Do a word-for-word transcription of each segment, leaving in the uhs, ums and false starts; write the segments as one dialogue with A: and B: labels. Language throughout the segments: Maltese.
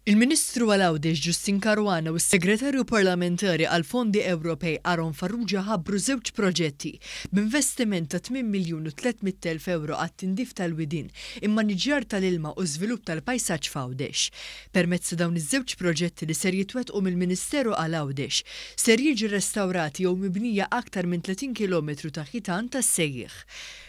A: Il-Ministru għal Għawdex Justyne Caruana u s-Segretarju Parlamentari għal Fondi Ewropej Aaron Farrugia ħabbru żewġ proġetti b'investiment ta' tmien miljun u tliet mitt elf ewro għat-tindif tal-widien, immaniġġjar tal-ilma u żvilupp tal-pajsaġġ f'Għawdex. Permezz ta' dawn iż-żewġ proġetti li ser jitwettqu mill-Ministeru għal Għawdex, ser jiġi restawrati jew mibnija aktar minn tletin kilometru ta' ħitan tas-sejjieħ.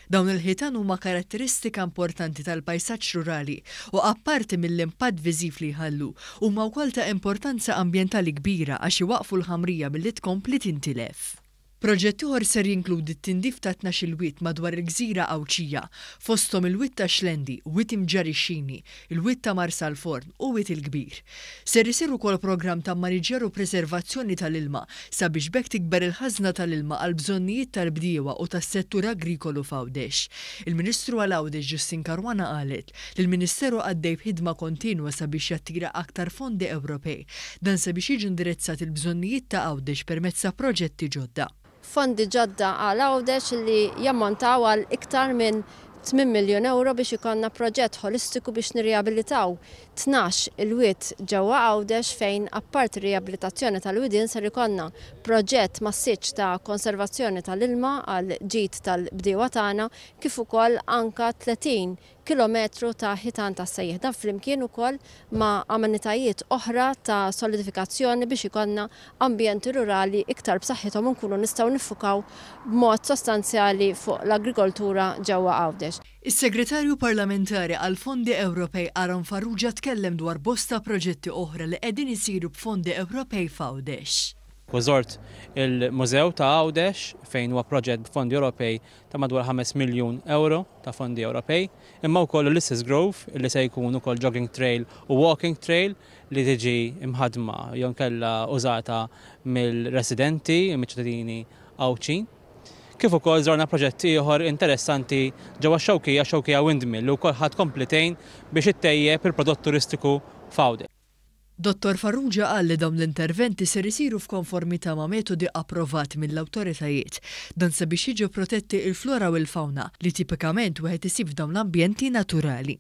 A: Dawn il-ħitan huma karatteristika importanti tal-pajsaġġ rurali u apparti mill-impatt viżiv li jħallu, huma wkoll ta' importanza ambjentali kbira għax iwaqfu l-ħamrija milli tkompli tintilef. Proġett ieħor ser jinkludi t-tindif ta' tnax-il wied madwar il-gżira Għawdxija, fosthom il-wied ta' Xlendi, wied Imġarr ix-Xini, il-wied ta' Marsalforn u wied il-Kbir. Ser isir ukoll programm ta' maniġġjar u preservazzjoni tal-ilma sabiex b'hekk tikber il-ħażna tal-ilma għal bżonnijiet tal-bdiewa u tas-settur agrikolu f'Għawdex. Il-Ministru għal Għawdex Justyne Caruana qalet li l-Ministeru għaddej b'ħidma kontinwa sabiex jattira aktar fondi Ewropej, dan sabiex jiġu indirizzati l-bżonnijiet ta' Għawdex permezz ta' proġetti ġodda.
B: Fondi ġodda għal Għawdex li jammontaw għal iktar minn tmien miljun euro biex ikollna proġett holistiku biex nirriabilitaw tnax il-wied ġewwa Għawdex, fejn apparti riabilitazzjoni tal-widien ser ikollna proġett massiċ ta' konservazzjoni tal-ilma għal ġid tal-bdiewa tagħna, kif ukoll anka tletin kilometru ta' ħitan ta' sejjeħ. Dan flimkien ukoll ma' amenitajiet oħra ta' solidifikazzjoni biex ikollna ambjenti rurali iktar b'saħħithom u nkunu nistgħu niffukaw b'mod sostanzjali fuq l-agrikoltura ġewwa Għawdex.
A: Is-Segretarju Parlamentari għal Fondi Ewropej Aaron Farrugia tkellem dwar bosta proġetti oħra li qegħdin isiru b'fondi Ewropej f'Għawdex.
C: U żort il-Mużew ta' Għawdex fejn huwa proġett b'fondi Ewropej ta' madwar ħames miljun euro ta' fondi Ewropej, imma wkoll Ulysses Grove li se jkun ukoll jogging trail u walking trail li tiġi imħadma jew inkella użata mill-residenti, mill-ċittadini Għawdxin. Kif ukoll żorna proġett ieħor interessanti ġewwa Xewkija, Xewkija Windmill, li wkoll ħadd komplitejn biex ittejjeb il-prodott turistiku f'Għawdex.
A: Dottor Farrugia qal li dawn l-interventi ser isiru f'konformità ma' metodi approvati mill-awtoritajiet, dan sabiex jiġu protetti il-flora u l-fauna li tipikament wieħed isib f'dawn l-ambjenti naturali.